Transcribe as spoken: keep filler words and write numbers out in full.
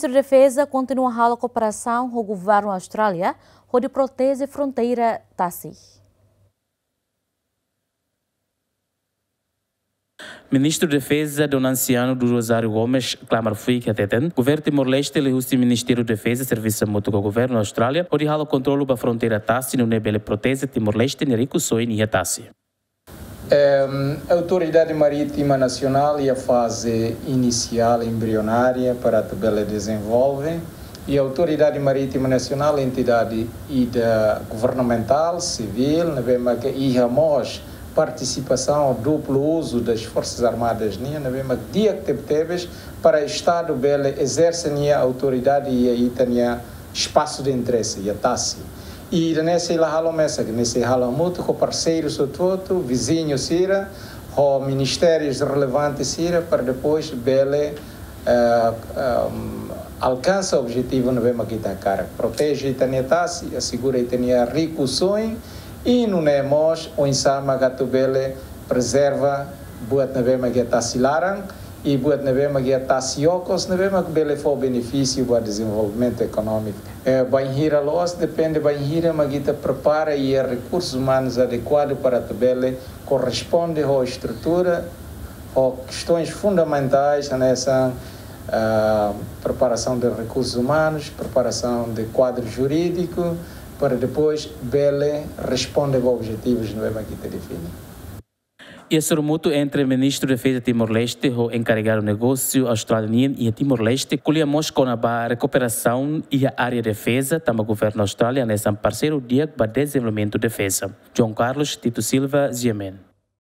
Ministru Defeza kontinua halo kooperasaun ho governu Austrália hodi proteje fronteira tasi. Ministru Defeza Dom Anciano do Rosário Gomes klamar fuik hateten, governu Timor-Leste liuhusi Ministériu Defeza servisu hamutuk ho governu Austrália hodi halo kontrolu ba fronteira tasi nune'e bele proteje Timor-Leste nia rikusoin iha tasi. Em, Autoridade Marítima Nacional iha faze inisiál embrionária para atu bele dezenvolve. I Autoridade Marítima Nacional, entidade ida governamentál, sivíl, ne'ebé mak iha mós partisipasaun duplo uzu das Forças Armadas nian, ne'ebé mak di'ak tebetebes para Estadu bele ezerse nia autoridade iha ita-nia espasu de interese, iha tasi. I ida-ne'e sei la halo mesak, ne'e sei halo hamutuk ho parseirus hotu-hotu, viziñu sira, ho ministérius relevante sira, para depois bele, eh, ehm, alkansa objetivu ne'ebé mak ita hakarak. Proteje ita-nia tasi, asegura ita-nia rikusoin, i nune'e mós oinsá mak atu bele prezerva buat ne'ebé mak iha tasi laran, i buat ne'ebé mak iha tasi okos, ne'ebé mak bele fó benefísiu ba dezenvolvimentu ekonómiku. Eh, bainhira loos, depende bainhira mak ita prepara iha rekursus umanus adekuadu para atu bele korresponde ho estrutura, ho kestoins fundamentais, hanesan, ah, preparasaun de rekursus umanus, preparasaun de kuadru jurídiku, para depois bele responde ba objetivus ne'ebé mak ita define. Iha sorumutu entre Ministru Defeza Timor-Leste ho enkarregadu negósiu Austrália nian iha Timor-Leste, ko'alia mós kona-ba rekuperasaun iha área defeza, tanba governu Austrália hanesan parseiru di'ak ba dezenvolvimentu defeza. João Carlos Tito Silva, G M N.